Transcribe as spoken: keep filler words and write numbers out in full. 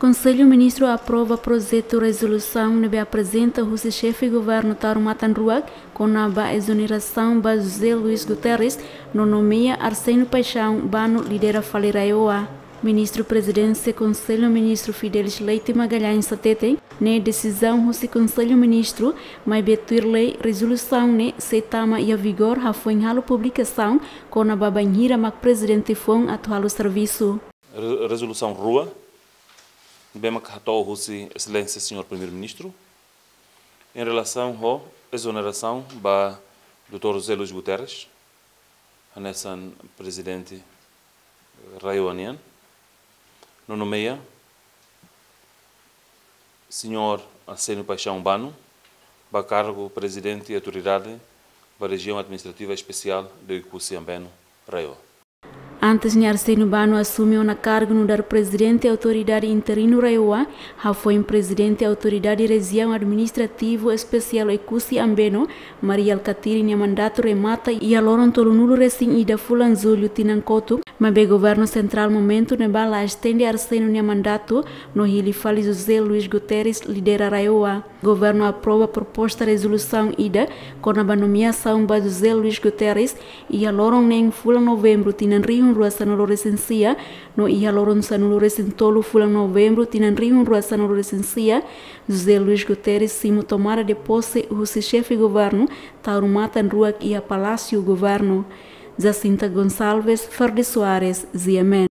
Konsellu Ministru aprova projetu rezolusaun ne'ebé aprezenta husi Xefe Governu Taur Matan Ruak kona-ba ezonerasaun ba José Luís Guterres no nomeia Arsénio Paixão Bano lidera fali RAEOA. Ministru Prezidénsia Konsellu Ministru Fidelis Leite Magalhães hateten, ne'e desizaun husi Konsellu Ministru, maibé tuir lei rezolusaun ne'e sei tama iha vigór hafoin halo publikasaun kona-ba bainhira mak prezidente foun atu halo servisu. Re-, rezolusaun rua, ne'ebé mak hato'o husi Exelénsia Señór Primeiru-Ministru, em relação ho ezonerasaun ba doutór José Luís Guterres, hanesan prezidente RAEOA nian, no nomeia Señór Arsénio Paixão Bano ba kargu Prezidente Autoridade ba Rejiaun Administrativa Espesiál de Oekusi Ambeno, RAEOA. Antes ne'e Arsénio Bano asume ona kargu nu'udar Prezidente Autoridade Interinu RAEOA, hafoin Prezidente Autoridade Rejiaun Administrativu Espesiál Oekusi Ambeno, Mari Alkatiri nia mandatu remata iha loron tolunulu-resin-ida fulan Jullu tinan kotuk, maibé Governu Sentrál momentu ne'ebá la estende Arsénio nia mandatu no hili fali José Luís Guterres lidera RAEOA. Governu aprova proposta rezolusaun ida kona-ba nomeasaun ba José Luís Guterres iha loron neen fulan Novembru tinan rihun rua sanulu-resin-sia, no iha loron sanulu-resin-tolu fulan Novembru tinan rihun rua sanulu-resin-sia, José Luís Guterres simu tomada de pose husi Xefe Governu Taur Matan Ruak iha Palásiu Governu. Jacinta Gonçalves, Ferdi Soares, G M N.